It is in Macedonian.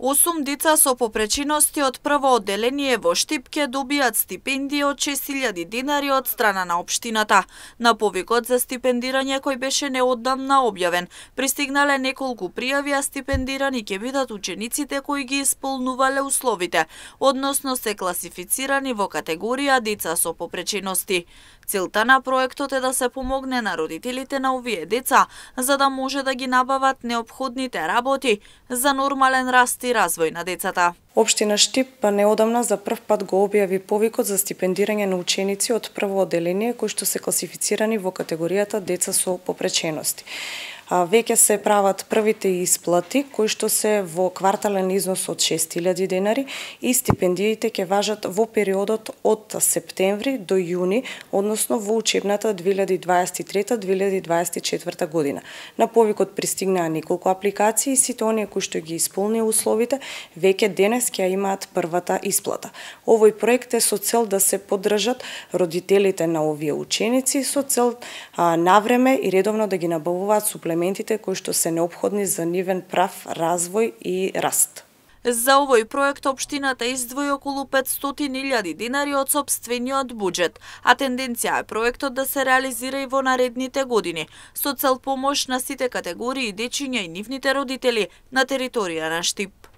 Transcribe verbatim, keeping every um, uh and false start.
Осум деца со попречености од прво одделение во Штип ќе добијат стипендија од шест илјади денари од страна на општината. На повикот за стипендирање кој беше неодамна објавен, пристигнале неколку пријави, а стипендирани ќе бидат учениците кои ги исполнувале условите, односно се класифицирани во категорија деца со попречености. Целта на проектот е да се помогне на родителите на овие деца, за да може да ги набават неопходните работи за нормален раст и развој на децата. Општина Штип неодамна за прв пат го објави повикот за стипендирање на ученици од прво одделение кои што се класифицирани во категоријата деца со попречености. Веќе се прават првите исплати кои што се во квартален износ од шест илјади денари и стипендиите ќе важат во периодот од септември до јуни, односно во учебната две илјади дваесет и трета две илјади дваесет и четврта година. На повикот пристигнаа неколку апликации и сите оние кои што ги исполнија условите веќе денес ќе имаат првата исплата. Овој проект е со цел да се поддржат родителите на овие ученици со цел а, навреме и редовно да ги набавуваат суплементите кои што се неопходни за нивен прав развој и раст. За овој проект општината издвои околу петстотини илјади денари од сопствениот буџет, а тенденција е проектот да се реализира и во наредните години, со цел помош на сите категории дечиња и нивните родители на територија на Штип.